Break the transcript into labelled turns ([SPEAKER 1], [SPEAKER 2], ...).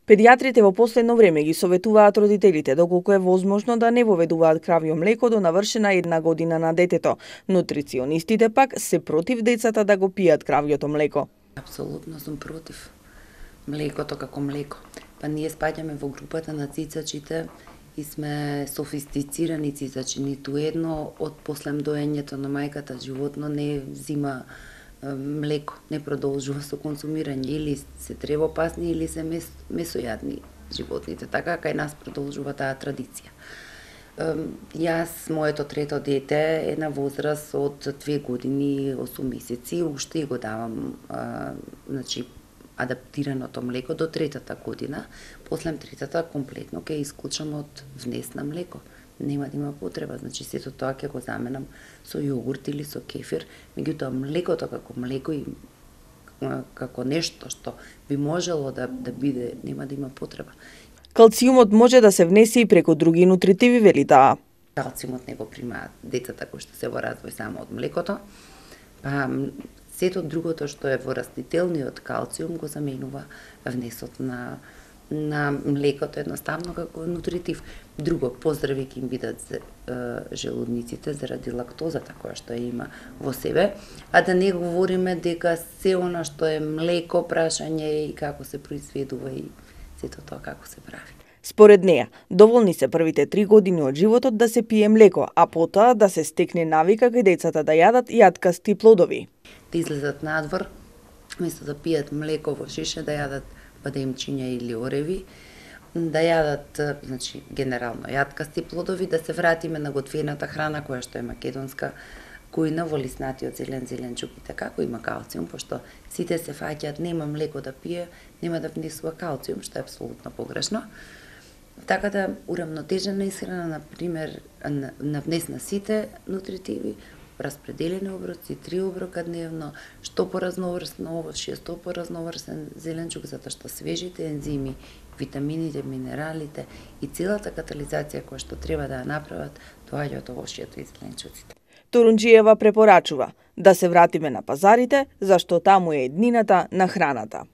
[SPEAKER 1] Педиатрите во последно време ги советуваат родителите доколку е возможно да не воведуваат кравјо млеко до навршена 1 година на детето. Нутриционистите пак се против децата да го пијат кравјото млеко.
[SPEAKER 2] Апсолутно сум против млекото како млеко. Па ние спаѓаме во групата на цицачите и сме софистицирани цицачи. Ниту едно од послем доењето на мајката животно не взима млеко, не продолжува со консумирање, или се тревопасни или се месојадни животните. Така кај нас продолжува таа традиција. Јас, моето трето дете е на возраст од 2 години 8 месеци, уште го давам адаптираното млеко до 3-та година. После 3-та комплетно ќе исклучам од внес на млеко. Нема да има потреба, сето тоа ќе го заменам со јогурт или со кефир, меѓутоа млекото како млеко и како нешто што би можело да биде, нема да има потреба.
[SPEAKER 1] Калциумот може да се внесе и преку други нутритиви, вели таа.
[SPEAKER 2] Калциумот не го примаат децата кои што се во развој само од млекото, па сето другото што е во растителниот калциум го заменува внесот на млекото едноставно како нутритив. Друго, поздрави ќе им бидат желудниците заради лактозата која што ја има во себе, а да не говориме дека се она што е млеко, прашање и како се произведува и сето тоа како се прави.
[SPEAKER 1] Според неа, доволни се првите 3 години од животот да се пие млеко, а потоа да се стекне навика кај децата да јадат јаткасти плодови.
[SPEAKER 2] Да излезат надвор, место да пијат млеко во шише, да јадат бадемчиња или ореви, да јадат, генерално јаткасти плодови, да се вратиме на готвената храна која што е македонска кујна во лиснатиот зеленчук и така, кој има калциум, пошто сите се фаќаат нема млеко да пие, нема да внесува калциум, што е апсолутно погрешно. Така да урамнотежена исхрана, например, на внес на сите нутритиви, распределени оброци, 3 оброка дневно, што поразноврсно овошје, што поразноврсен зеленчук, затоа што свежите ензими, витамините, минералите и целата катализација која што треба да ја направат, доаѓа од овошјето и зеленчуците.
[SPEAKER 1] Турунџиева препорачува да се вратиме на пазарите, зашто таму е еднината на храната.